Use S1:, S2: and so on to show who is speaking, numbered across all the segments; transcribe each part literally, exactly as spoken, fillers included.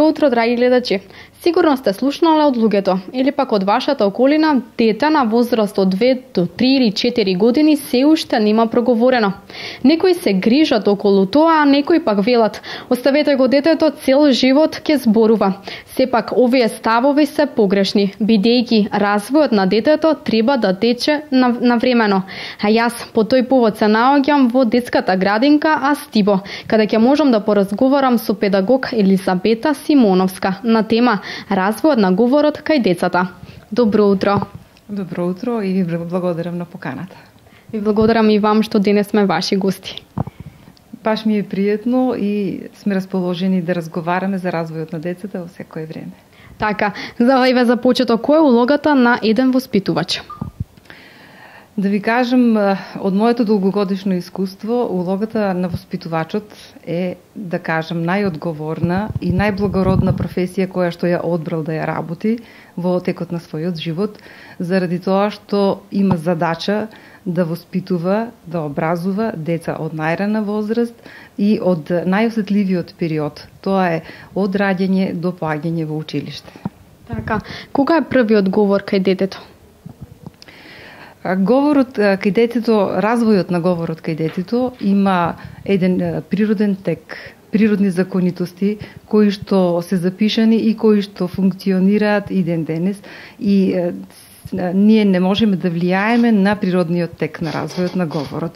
S1: утро, драги гледачи. Сигурно сте слушнале од луѓето или пак од вашата околина дете на возраст од две до три или четири години се уште нема проговорено. Некои се грижат околу тоа, а некои пак велат: оставете го детето, цел живот ќе зборува. Сепак овие ставови се погрешни, бидејќи развојот на детето треба да тече навремено. А јас по тој повод се наоѓам во детската градинка Астибо, каде ќе можам да поразговарам со педагог Елизабета Симоновска на тема развојот на говорот кај децата. Добро утро.
S2: Добро утро и ви благодарам на поканата.
S1: Ви благодарам и вам што денес сме ваши гости.
S2: Баш ми е пријатно и сме расположени да разговараме за развојот на децата во секое време.
S1: Така, за еве за почеток, која е улогата на еден воспитувач?
S2: Да ви кажам, од моето долгогодишно искуство, улогата на воспитувачот е, да кажам, најодговорна и најблагородна професија која што ја одбрал да ја работи во текот на својот живот, заради тоа што има задача да воспитува, да образува деца од најрана возраст и од најосетливиот период. Тоа е од раѓање до поаѓање во училиште.
S1: Така, кога е првиот говор кај детето?
S2: Говорот кај детето, развојот на говорот кај детето има еден природен тек, природни законитости кои што се запишани и кои што функционираат и ден денес, и е, ние не можеме да влијаеме на природниот тек на развојот на говорот.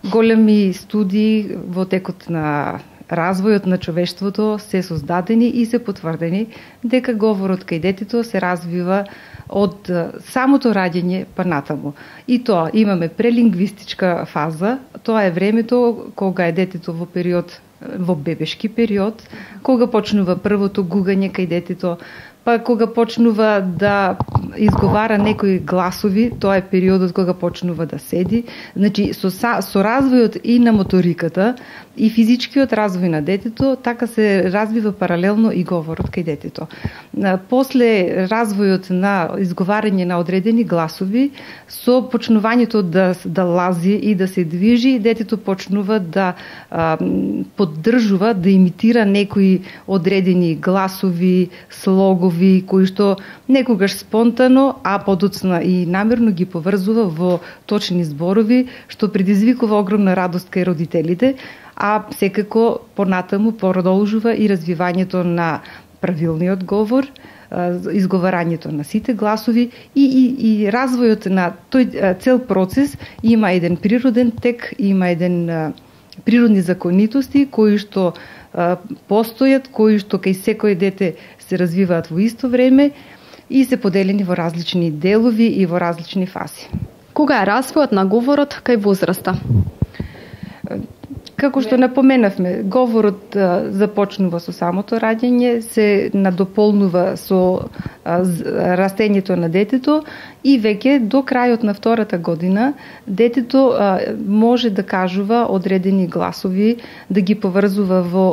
S2: Големи студии во текот на развојот на човештвото се создадени и се потврдени дека говорот кај детето се развива од самото раѓање па натаму. И тоа имаме прелингвистичка фаза, тоа е времето кога е детето во период, во бебешки период, кога почнува првото гугање кај детето, па кога почнува да изговара некои гласови, тоа е периодот кога почнува да седи. Значи, со, со развојот и на моториката и физичкиот развој на детето, така се развива паралелно и говорот кај детето. После развојот на изговарање на одредени гласови, со почнувањето да, да лази и да се движи, детето почнува да а, поддржува, да имитира некои одредени гласови, слогови, кои што некогаш спонтано, а подоцна и намерно ги поврзува во точни зборови, што предизвикува огромна радост кај родителите, а секако понатаму продолжува и развивањето на правилниот говор, изговарањето на сите гласови и, и, и развојот на тој цел процес има еден природен тек, има еден природни законитости кои што постојат, кои што кај секој дете се развиваат во исто време и се поделени во различни делови и во различни фази.
S1: Кога е развојот на говорот кај возраста?
S2: Како што напоменавме, говорот а, започнува со самото раѓање, се надополнува со а, растењето на детето и веќе до крајот на втората година детето а, може да кажува одредени гласови, да ги поврзува во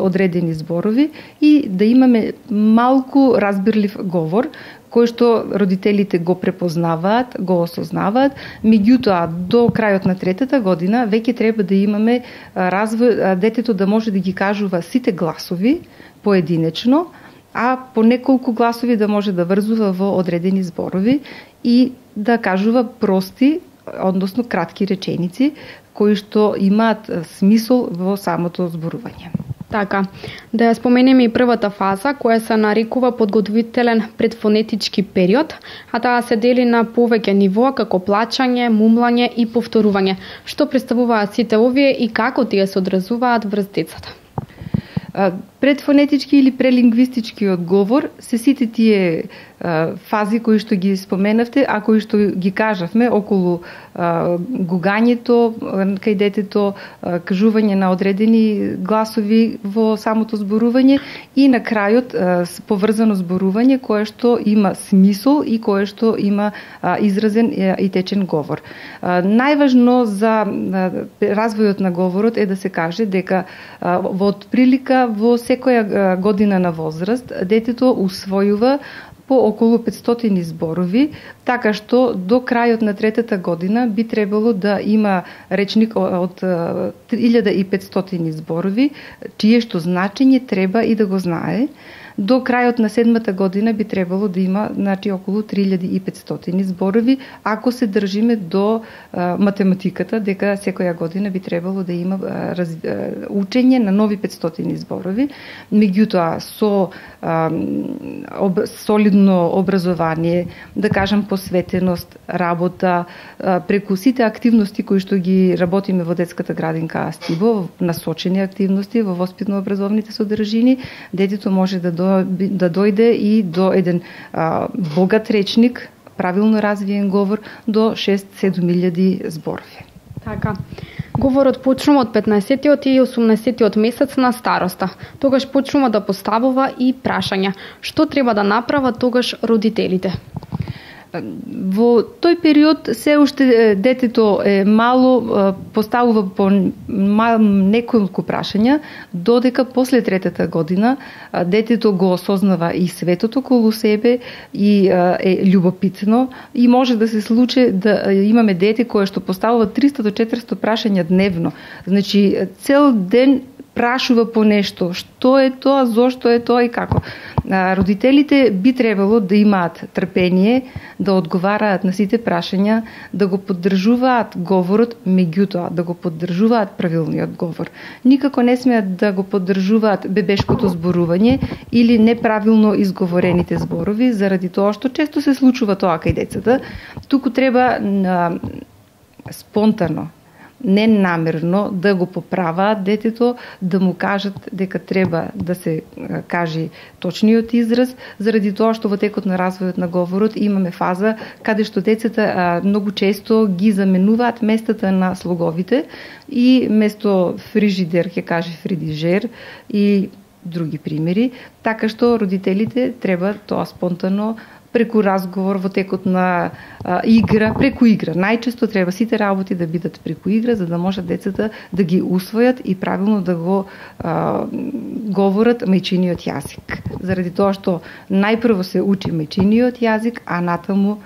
S2: одредени зборови и да имаме малку разбирлив говор, кој што родителите го препознаваат, го осознаваат, меѓутоа до крајот на третата година веќе треба да имаме развој, детето да може да ги кажува сите гласови поединечно, а по неколку гласови да може да врзува во одредени зборови и да кажува прости, односно кратки реченици, кои што имаат смисол во самото зборување.
S1: Така, да ја споменеме и првата фаза, која се нарекува подготвителен предфонетички период, а таа се дели на повеќе нивоа како плачање, мумлање и повторување. Што представуваат сите овие и како тие се одразуваат врз децата?
S2: Предфонетички или прелингвистички одговор се сите тие а, фази кои што ги споменавте, а кои што ги кажавме околу а, гугањето кај детето, а, кажување на одредени гласови во самото зборување и на крајот а, поврзано зборување кое што има смисол и кое што има а, изразен а, и течен говор. А, најважно за а, развојот на говорот е да се каже дека а, во отприлика во секоја година на возраст детето усвојува по околу петстотини зборови, така што до крајот на третата година би требало да има речник од три илјади и петстотини зборови, чие што значење треба и да го знае. До крајот на седмата година би требало да има, значи, околу три илјади и петстотини зборови, ако се држиме до а, математиката, дека секоја година би требало да има а, раз, а, учење на нови петстотини зборови. Меѓутоа, со а, об, солидно образование, да кажам посветеност, работа, а, преку сите активности кои што ги работиме во детската градинка Астибо, насочени активности во воспитно-образовните содржини, детето може да до да дојде и до еден а, богат речник, правилно развиен говор до шест-седум илјади зборови.
S1: Така. Говорот почнува од петнаесеттиот и осумнаесеттиот месец на староста. Тогаш почнува да поставува и прашања. Што треба да направат тогаш родителите?
S2: Во тој период се уште детето е мало, поставува по неколку прашања, додека после третата година детето го осознава и светот околу себе и е љубопитно и може да се случи да имаме дете кое што поставува триста до четиристо прашања дневно. Значи цел ден прашува по нешто, што е тоа, зошто е тоа и како. Родителите би требало да имаат трпение, да одговараат на сите прашања, да го поддржуваат говорот, меѓутоа да го поддржуваат правилниот говор. Никако не смеат да го поддржуваат бебешкото зборување или неправилно изговорените зборови, заради тоа што често се случува тоа кај децата. Туку треба на спонтано, ненамерно да го поправаат детето, да му кажат дека треба да се каже точниот израз, заради тоа што во текот на развојот на говорот имаме фаза каде што децата многу често ги заменуваат местата на слоговите и место фрижидер ќе каже фридижер и други примери, така што родителите треба тоа спонтано преку разговор во текот на а, игра, преку игра. Најчесто треба сите работи да бидат преку игра, за да можат децата да ги усвојат и правилно да го а, говорат мајчиниот јазик. Заради тоа што најпрво се учи мајчиниот јазик, а натаму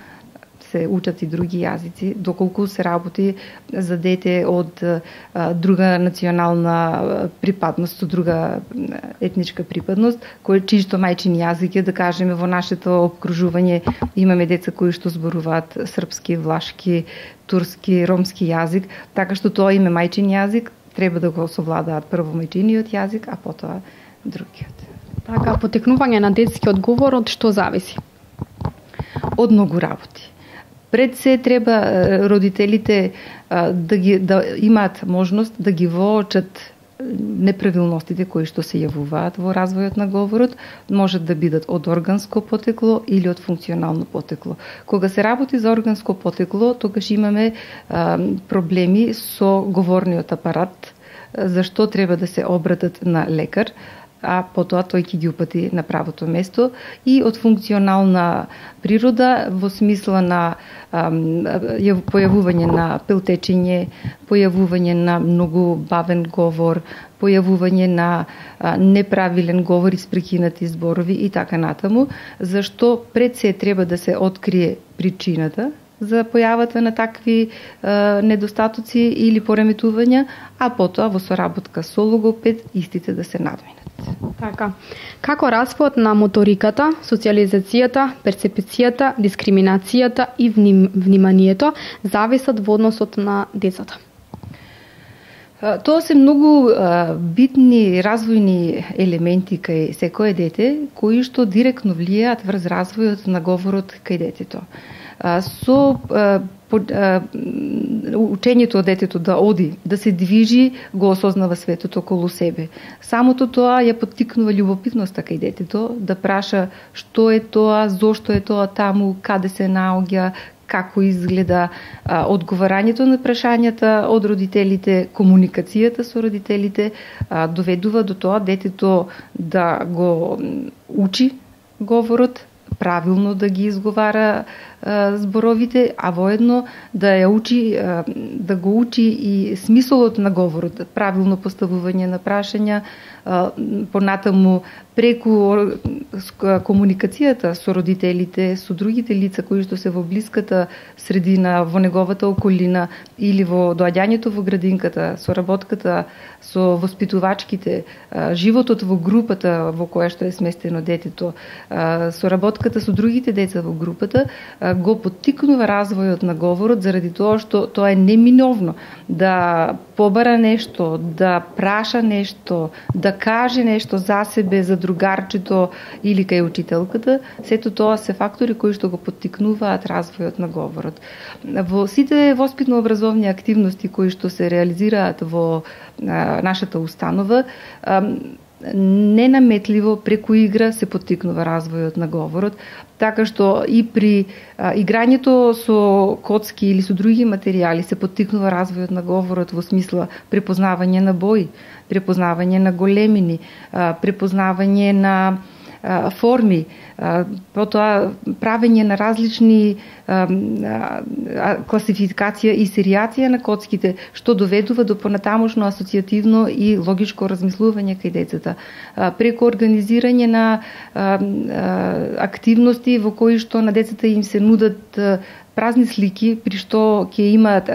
S2: се учат и други јазици, доколку се работи за дете од а, друга национална припадност, од друга етничка припадност, кој чисто мајчин јазик е, да кажеме, во нашето обкружување имаме деца кои што зборуваат српски, влашки, турски, ромски јазик, така што тоа име мајчин јазик треба да го совладаат прво мајчиниот јазик, а потоа другиот.
S1: Така, потекнување на детскиот говор од што зависи?
S2: Од многу работи. Пред се треба родителите да ги да имаат можност да ги воочат неправилностите кои што се јавуваат во развојот на говорот, можат да бидат од органско потекло или од функционално потекло. Кога се работи за органско потекло, тогаш имаме а, проблеми со говорниот апарат, зашто треба да се обратат на лекар, а потоа тој ќе ги упати на правото место, и од функционална природа во смисла на ам, појавување на пелтечење, појавување на многу бавен говор, појавување на а, неправилен говор, испрекинати зборови и така натаму, зашто пред се треба да се открие причината за појавата на такви е, недостатоци или пореметувања, а потоа во соработка со логопед истите да се надминат.
S1: Така. Како развојот на моториката, социјализацијата, перцепцијата, дискриминацијата и вним, вниманието зависат во односот на децата?
S2: Тоа се многу а, битни развојни елементи кај секое дете, кои што директно влијаат врз развојот на говорот кај детето. А, со а, по, а, учењето од детето да оди, да се движи, го осознава светот околу себе. Самото тоа ја поттикнува љубопитноста кај детето, да праша што е тоа, зошто е тоа таму, каде се наоѓа, како изгледа, а, одговарањето на прашањата од родителите, комуникацијата со родителите, а, доведува до тоа детето да го учи говорот, правилно да ги изговара зборовите, а воедно да ја учи, да го учи и смисолот на говорот, правилно поставување на прашања, понатаму преку комуникацијата со родителите, со другите лица кои што се во блиската средина, во неговата околина или во доаѓањето во градинката, со работката, со воспитувачките, животот во групата во која што е сместено детето, со работката со другите деца во групата, го поттикнува развојот на говорот заради тоа што тоа е неминовно да побара нешто, да праша нешто, да каже нешто за себе, за другарчето или кај учителката. Сето тоа се фактори кои што го поттикнуваат развојот на говорот. Во сите воспитно-образовни активности кои што се реализираат во а, нашата установа, а, ненаметливо преку игра се поттикнува развојот на говорот, така што и при а, играњето со коцки или со други материјали се поттикнува развојот на говорот во смисла препознавање на бои, препознавање на големини, а, препознавање на а, форми, а, потоа правење на различни а, а, класификација и серијација на коцките, што доведува до понатамошно асоцијативно и логичко размислување кај децата, а, преку организирање на а, а, активности во кои што на децата им се нудат а, празни слики, при што ќе имаат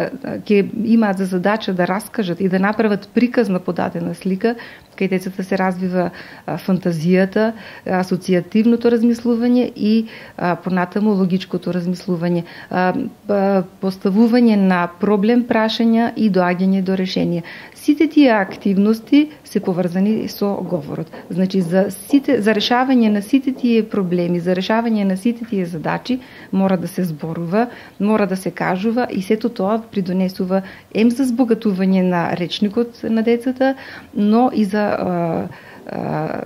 S2: ќе имаат за задача да раскажат и да направат приказ на подадена слика. Кај децата се развива а, фантазијата, асоцијативното размислување и а, понатаму логичкото размислување, а, а, поставување на проблем прашања и доаѓање до решение. Сите тие активности се поврзани со говорот. Значи за сите за решавање на сите тие проблеми, за решавање на сите тие задачи мора да се зборува, мора да се кажува и сето тоа придонесува ем за збогатување на речникот на децата, но и за а, а,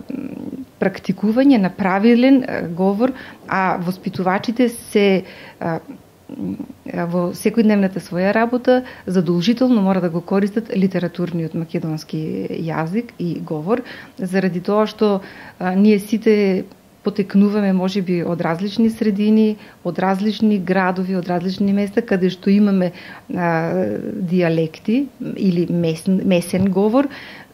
S2: практикување на правилен говор, а воспитувачите се а, во секојдневната своја работа задолжително мора да го користат литературниот македонски јазик и говор, заради тоа што а, ние сите потекнуваме можеби од различни средини, од различни градови, од различни места каде што имаме а, диалекти или месен, месен говор,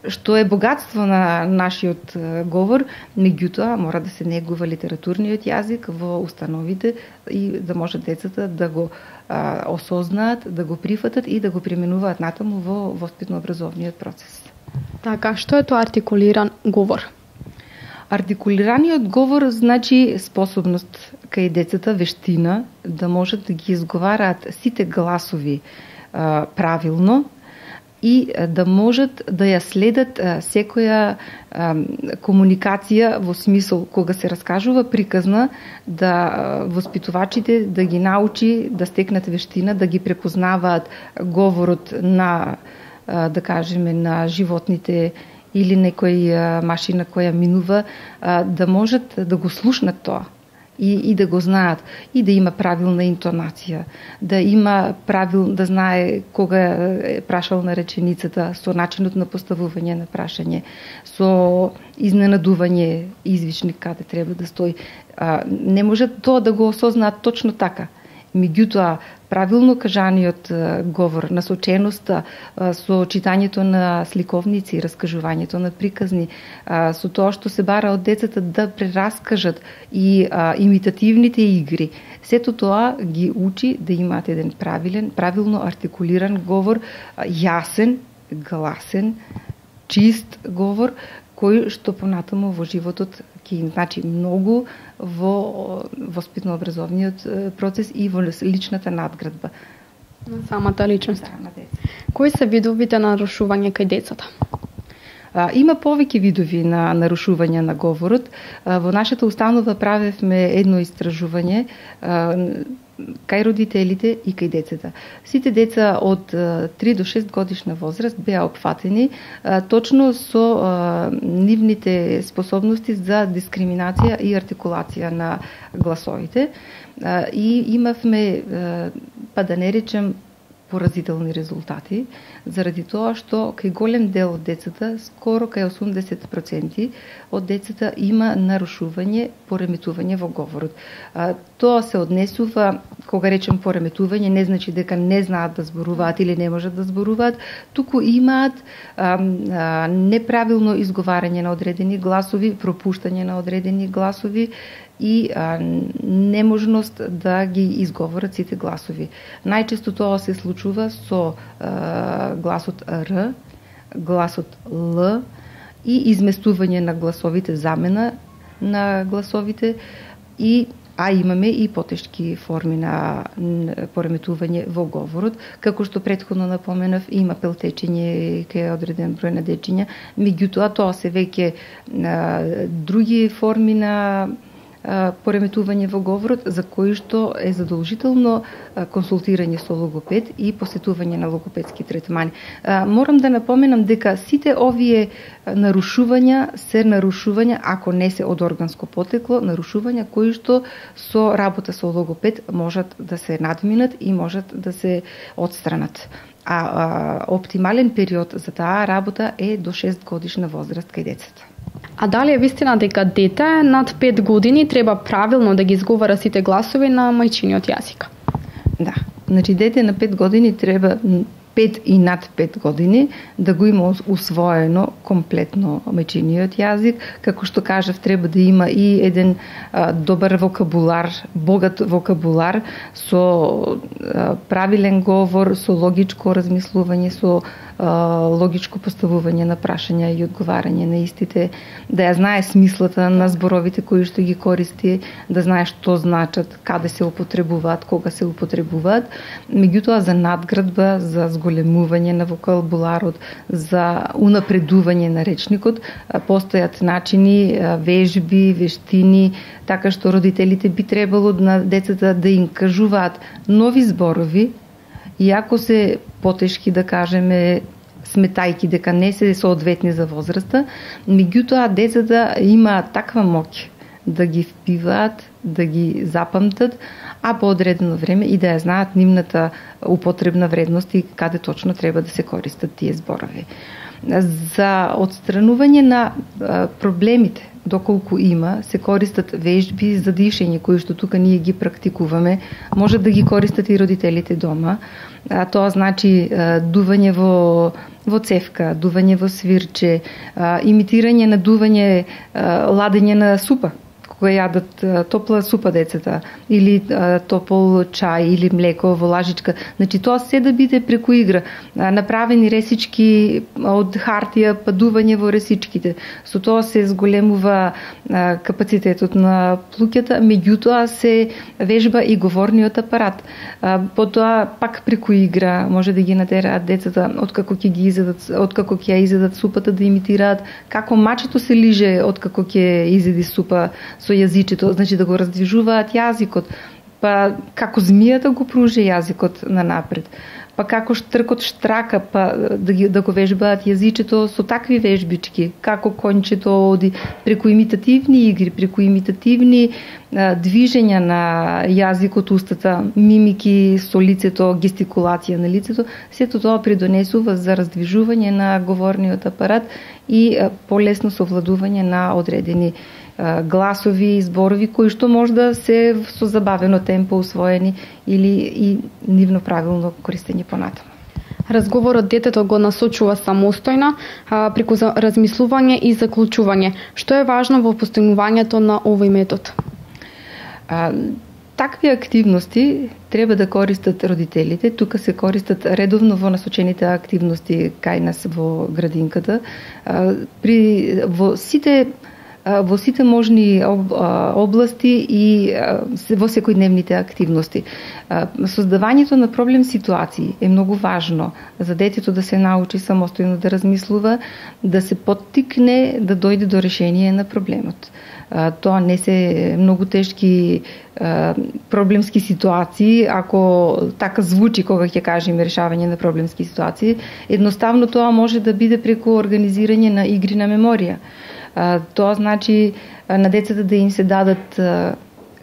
S2: што е богатство на нашиот говор, меѓутоа мора да се негува литературниот јазик во установите и да може децата да го а, осознаат, да го прифатат и да го применуваат натаму во воспитно-образовниот процес.
S1: Така, што е тоа артикулиран говор?
S2: Артикулираниот говор значи способност кај децата, вештина, да можат да ги изговараат сите гласови а, правилно и да можат да ја следат а, секоја а, комуникација во смисол кога се раскажува приказна, да а, воспитувачите да ги научи да стекнат вештина, да ги препознаваат говорот на, а, да кажеме, на животните или некој машина која минува, да можат да го слушнат тоа и, и да го знаат, и да има правилна интонација, да има правил, да знае кога е прашал на реченицата, со начинот на поставување на прашање, со изненадување извичник каде треба да стои. Не може тоа да го осознаат точно така. Меѓутоа, правилно кажаниот говор, насоченоста со читањето на сликовници, раскажувањето на приказни, со тоа што се бара од децата да прераскажат и а, имитативните игри, сето тоа ги учи да имаат еден правилен, правилно артикулиран говор, јасен, гласен, чист говор, кој што понатаму во животот ќе им значи многу во воспитно-образовниот процес и во личната надградба.
S1: На самата личност.
S2: Да, на деца.
S1: Кои се видовите на нарушување кај децата?
S2: А, има повеќе видови на нарушување на говорот. А, во нашата установа правевме едно истражување а, кај родителите и кај децата. Сите деца од три до шест годишна возраст беа опфатени а, точно со а, нивните способности за дискриминација и артикулација на гласовите. А, и имавме, а, па да не речем, поразителни резултати, заради тоа што кај голем дел од децата, скоро кај осумдесет проценти од децата има нарушување, пореметување во говорот. А, тоа се однесува, кога речем пореметување, не значи дека не знаат да зборуваат или не можат да зборуваат, туку имаат а, а, неправилно изговарање на одредени гласови, пропуштање на одредени гласови, и а, неможност да ги изговорат сите гласови. Најчесто тоа се случува со а, гласот Р, гласот Л и изместување на гласовите, замена на гласовите, и а имаме и потешки форми на пореметување во говорот, како што претходно напоменав, има пелтечење кај одреден број на дечиња, меѓутоа тоа се веќе а, други форми на пореметување во говорот, за кои што е задолжително консултирање со логопед и посетување на логопедски третмани. Морам да напоменам дека сите овие нарушувања се нарушувања, ако не се од органско потекло, нарушувања кои што со работа со логопед можат да се надминат и можат да се отстранат. А, а оптимален период за таа работа е до шест годишна возраст кај децата.
S1: А дали е вистина дека дете над пет години треба правилно да ги изговара сите гласови на мајчиниот јазик?
S2: Да, значи дете на пет години треба пет и над пет години да го има усвоено комплетно мајчиниот јазик, како што кажав, треба да има и еден а, добар вокабулар, богат вокабулар со а, правилен говор, со логичко размислување, со а, логичко поставување на прашања и одговарање на истите, да ја знае смислата на зборовите кои што ги користи, да знае што значат, каде се употребуваат, кога се употребуваат, меѓутоа за надградба, за зголемување на вокабуларот, за унапредување на речникот, постојат начини, вежби, вештини, така што родителите би требало на децата да им кажуваат нови зборови, иако се потешки, да кажеме, сметајки дека не се соодветни за возраста, меѓутоа децата имаат таква моќ да ги впиваат, да ги запамтат, а по одредено време и да ја знаат нивната употребна вредност и каде точно треба да се користат тие зборови. За отстранување на проблемите, доколку има, се користат вежби за дишење, кои што тука ние ги практикуваме. Може да ги користат и родителите дома. А, тоа значи а, дување во во цевка, дување во свирче, а, имитирање на дување, а, ладење на супа, кога јадат а, топла супа децата, или а, топол чај, или млеко во лажичка. Значи тоа се да биде преку игра. А, направени ресички од хартија, па дување во ресичките. Со тоа се зголемува а, капацитетот на плуќата, меѓутоа се вежба и говорниот апарат. А, потоа пак преку игра може да ги натераат децата откако ќе ги изедат, откако ќе ја изедат супата, да имитираат како мачето се лиже откако ќе изеди супа со јазичето, значи да го раздвижуваат јазикот, па како змијата го пружи јазикот на напред, па како штркот штрака, па да, ги, да го вежбаат јазичето со такви вежбички, како кончето оди, преку имитативни игри, преку имитативни а, движења на јазикот, устата, мимики со лицето, гестикулација на лицето, сето тоа придонесува за раздвижување на говорниот апарат и а, полесно совладување на одредени гласови и зборови кои што можда се со забавено темпо усвоени или и нивно правилно користење понатаму.
S1: Разговорот детето го насочува самостојно а, преку размислување и заклучување. Што е важно во постигнувањето на овој метод?
S2: А, такви активности треба да користат родителите. Тука се користат редовно во насочените активности кај нас во градинката. А, при во сите во сите можни области и во секојдневните активности. Создавањето на проблем ситуации е многу важно за детето да се научи самостојно да размислува, да се поттикне да дојде до решение на проблемот. Тоа не се многу тешки проблемски ситуации, ако така звучи кога ќе кажеме решавање на проблемски ситуации. Едноставно тоа може да биде преку организирање на игри на меморија. Тоа значи на децата да им се дадат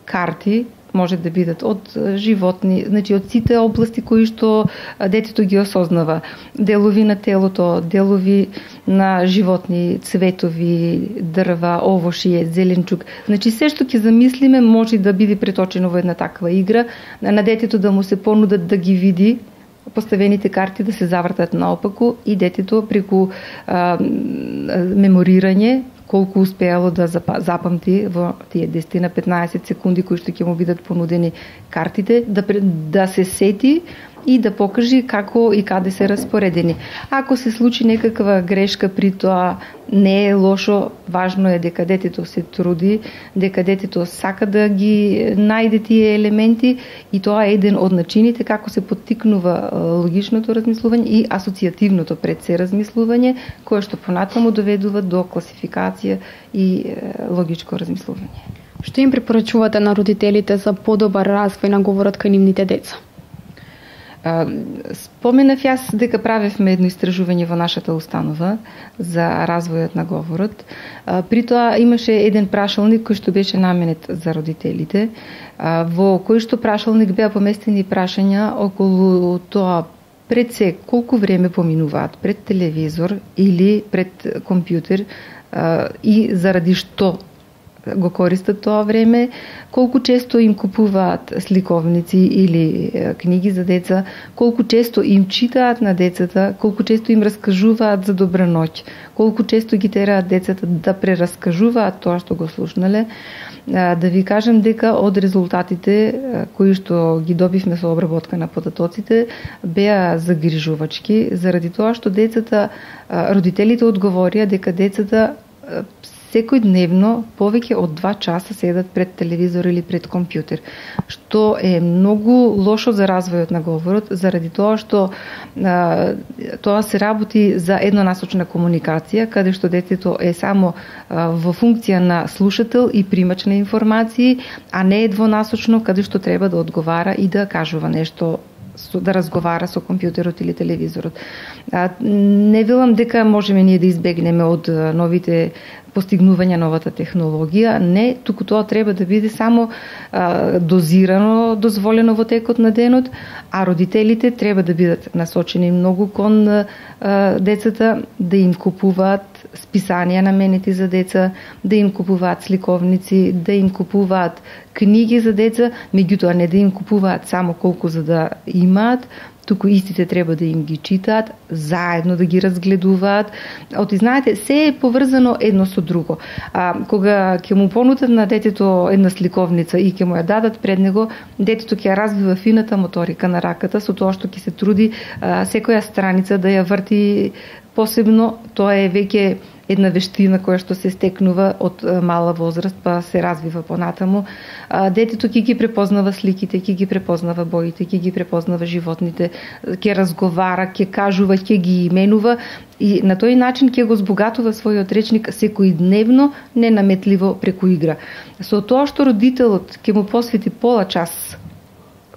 S2: карти може да бидат од животни, значи од сите области кои што детето ги осознава. Делови на телото, делови на животни, цветови, дрва, овошје, зеленчук. Значи се што ќе замислиме може да биде преточено во една таква игра, на детето да му се понудат да ги види поставените карти да се завртат наопаку и детето преку а, меморирање колку успеало да запамти во тие десет на петнаесет секунди кои што ќе му бидат понудени картите, да, да се сети и да покажи како и каде се распоредени. Ако се случи некаква грешка при тоа, не е лошо, важно е дека детето се труди, дека детето сака да ги најде тие елементи и тоа е еден од начините како се поттикнува логичното размислување и асоцијативното пред се размислување, кое што понатаму доведува до класификација и логичко размислување.
S1: Што им препорачувате на родителите за подобар развој на говорот кај нивните деца?
S2: Споменав јас дека правевме едно истражување во нашата установа за развојот на говорот. При тоа имаше еден прашалник кој што беше наменет за родителите, во кој што прашалник беа поместени прашања околу тоа пред се колку време поминуваат пред телевизор или пред компјутер и заради што го користат тоа време, колку често им купуваат сликовници или книги за деца, колку често им читаат на децата, колку често им раскажуваат за добра ноќ, колку често ги тераат децата да прераскажуваат тоа што го слушнале. Да ви кажам дека од резултатите кои што ги добивме со обработка на податоците беа загрижувачки, заради тоа што децата, родителите одговорија дека децата секојдневно повеќе од два часа седат пред телевизор или пред компјутер, што е многу лошо за развојот на говорот, заради тоа што а, тоа се работи за еднонасочна комуникација, каде што детето е само а, во функција на слушател и примач на информации, а не е двонасочно, каде што треба да одговара и да кажува нешто, да разговара со компјутерот или телевизорот. А, не велам дека можеме ние да избегнеме од новите постигнувања новата технологија, не, туку тоа треба да биде само а, дозирано, дозволено во текот на денот, а родителите треба да бидат насочени многу кон а, децата, да им купуваат списанија наменети за деца, да им купуваат сликовници, да им купуваат книги за деца, меѓутоа не да им купуваат само колку за да имаат, туку истите треба да им ги читаат, заедно да ги разгледуваат. Оти знаете, се е поврзано едно со друго. А, кога ќе му понудат на детето една сликовница и ќе му ја дадат пред него, детето ќе ја развива фината моторика на раката со тоа што ќе се труди а, секоја страница да ја врти посебно. Тоа е веќе една вештина која што се стекнува од мала возраст, па се развива понатаму. Детето ќе ги препознава сликите, ќе ги препознава боите, ќе ги препознава животните, ќе разговара, ќе кажува, ќе ги именува и на тој начин ќе го збогатува својот речник секојдневно, ненаметливо преку игра. Со тоа што родителот ќе му посвети пола час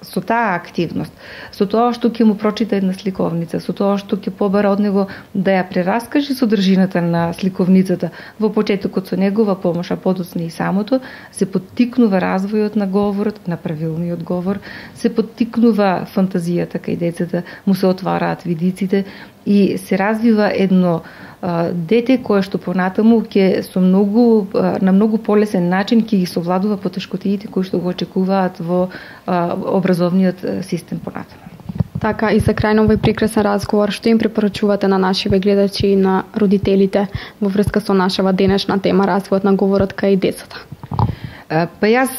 S2: со таа активност, со тоа што ќе му прочита една сликовница, со тоа што ќе побара од него да ја прераскаже содржината на сликовницата во почетокот со негова помош, а подоцна и самото, се поттикнува развојот на говорот, на правилниот говор, се поттикнува фантазијата кај децата, му се отвараат видиците и се развива едно а, дете кое што понатаму ќе со многу а, на многу полесен начин ќе ги совладува потешкотиите кои што го очекуваат во а, образовниот систем понатаму.
S1: Така, и за крај на овој прекрасен разговор, што им препорачувате на нашиве гледачи и на родителите во врска со нашава денешна тема развојот на говорот кај децата?
S2: Па јас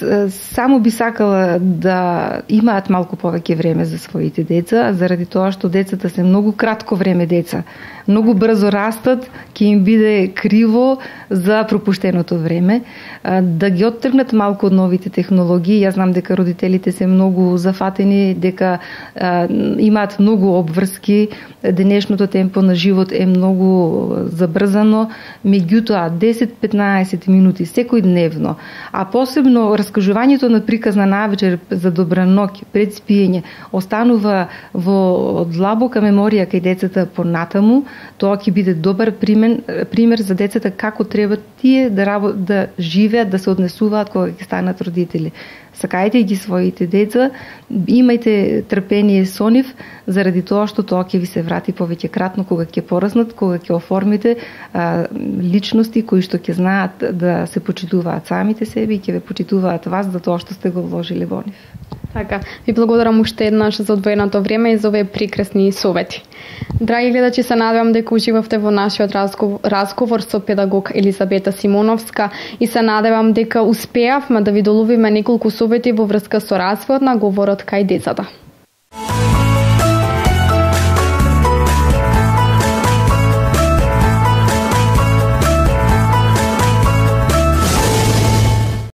S2: само би сакала да имаат малку повеќе време за своите деца, заради тоа што децата се многу кратко време деца. Многу брзо растат, ќе им биде криво за пропуштеното време. Да ги оттргнат малку од новите технологии. Јас знам дека родителите се многу зафатени, дека а, имаат многу обврски. Денешното темпо на живот е многу забрзано, меѓутоа десет-петнаесет минути секојдневно, а посебно раскажувањето на приказна навечер за добра ноќ пред спиење останува во длабока меморија кај децата понатаму. Тоа ќе биде добар пример, пример за децата како треба тие да, да живеат, да се однесуваат кога ќе станат родители. сакајте ги своите деца, имајте трпение со нив, заради тоа што тоа ќе ви се врати повеќе кратно кога ќе пораснат, кога ќе оформите а, личности кои што ќе знаат да се почитуваат самите себе и ќе ве почитуваат вас за тоа што сте го вложили во нив.
S1: Така, ви благодарам уште еднаш за одвоеното време и за овие прекрасни совети. Драги гледачи, се надевам дека уживавте во нашиот разговор, разговор со педагог Елизабета Симоновска и се надевам дека успеавме да ви доловиме неколку совети во врска со развојот на говорот кај децата.